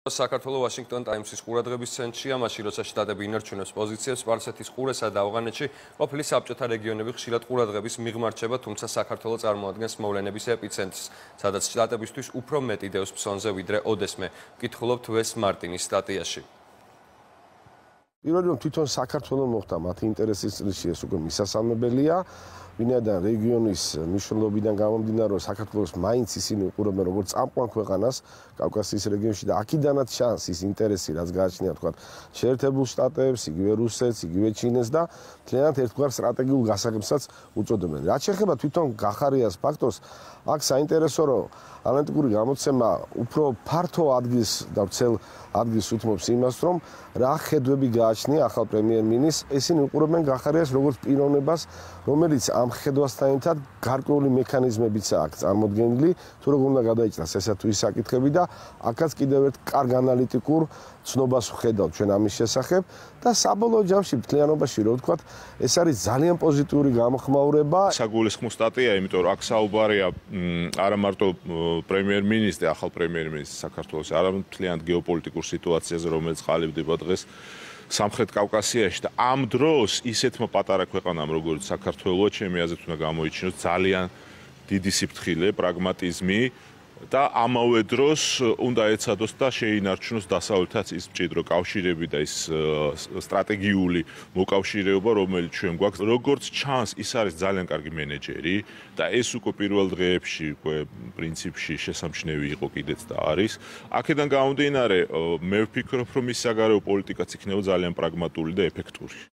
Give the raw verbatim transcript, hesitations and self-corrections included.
საქართველოს ვაშინგტონ ტაიმსის ყურადღების ცენტრია, მაშინ როცა შტატები ინარჩუნებს პოზიციებს სპარსეთის ყურესა და ავღანეთში ყოფილი საბჭოთა რეგიონები ხშირად ყურადღების მიღმარჩება, თუმცა საქართველოს წარმოადგენს მოვლენების ეპიცენტრს, სადაც შტატებისთვის უფრო მეტი დევს ფსონზე ვიდრე ოდესმე. ვკითხულობთ ვეს მარტინის სტატიაში. პირველად თვითონ საქართველოს მოხდა მათი ინტერესის წრეში ეს უკვე მისასალმებელია. ვინაიდან რეგიონის მნიშვნელობიდან გამომდინარე, საქართველოს მაინც ისინი უყურებენ როგორც წამყვან ქვეყანას კავკასიის რეგიონში და აქედანაც ჩანს ის ინტერესი, რაც გააჩნია თქვა შეერთებულ შტატებს, იგივე რუსეთს, იგივე ჩინეთს და მთლიანად ერთგვარ სტრატეგიულ გასაღებსაც უწოდებენ. რაც შეეხება თვითონ გახარიას ფაქტორს, აქ საინტერესო რომ ანალიტიკური გამოცემა უფრო ფართო ადგილს და ვრცელ ადგილს უთმობს იმას, რომ რა ხედვები გააჩნია ახალ პრემიერ-მინისტრს. ისინი უყურებენ გახარიას როგორც პიროვნებას, რომელიც ამ ხედვასთან ერთად გარკვეული მექანიზმებიცაა აქ წარმოდგენილი, თუ როგორ უნდა გადაიჭრას ესა თუ ის საკითხები და აქაც კიდევ ერთ კარგ ანალიტიკურ ცნობას ვხედავთ ჩვენ ამის შესახებ და საბოლოო ჯამში მთლიანობაში რო ვთქვათ, ეს არის ძალიან პოზიტიური გამოხმაურება. საგულისხმო სტატია, იმიტომ რომ აქ საუბარია არა მარტო პრემიერ-მინისტრი, ახალ პრემიერ-მინისტრს საქართველოს, არამედ მთლიანად გეოპოლიტიკურ სიტუაციაზე, რომელიც ყალიბდება დღეს სამხრეთ კავკასიაში და ამ დროს ისეთმა პატარა ქვეყანამ, როგორც საქართველო, ჩემი აზრით უნდა გამოიჩინოს ძალიან დიდი სიფრთხილე, პრაგმატიზმი და ამავე დროს უნდა ეცადოს და შეინარჩუნოს დასავლეთაც ის მჭიდრო კავშირები და ის სტრატეგიული მოკავშირეობა, რომელიც ჩვენ გვაქვს. როგორც ჩანს, ის არის ძალიან კარგი მენეჯერი და ეს უკვე პირველ დღეებში უკვე პრინციპში შესამჩნევი იყო კიდეც და არის. აქედან გამომდინარე, მე ვფიქრობ, რომ ის საგარეო პოლიტიკაც იქნება ძალიან პრაგმატული და ეფექტური.